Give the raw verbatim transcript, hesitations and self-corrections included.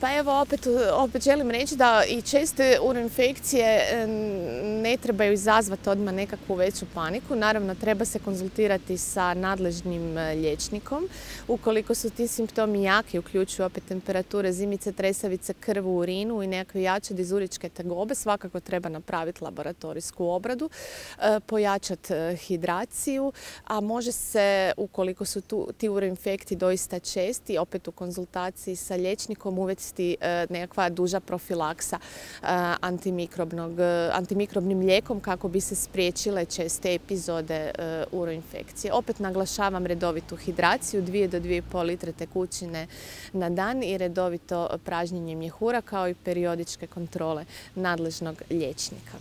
Pa evo, opet, opet želim reći da i česte uroinfekcije ne trebaju izazvati odmah nekakvu veću paniku. Naravno, treba se konzultirati sa nadležnim liječnikom. Ukoliko su ti simptomi jaki, uključuju opet temperature, zimice, tresavice, krv u urinu i nekakve jače dizuričke tegobe, svakako treba napraviti laboratorijsku obradu, pojačati hidraciju, a može se, ukoliko su tu, ti uroinfekti doista česti, opet u konzultaciji sa liječnikom uvesti nekakva duža profilaksa antimikrobnog, antimikrobnim lijekom kako bi se spriječile česte epizode uroinfekcije. Opet naglašavam redovitu hidraciju, dvije do dvije i pol litre tekućine na dan i redovito pražnjenje mjehura kao i periodičke kontrole nadležnog liječnika.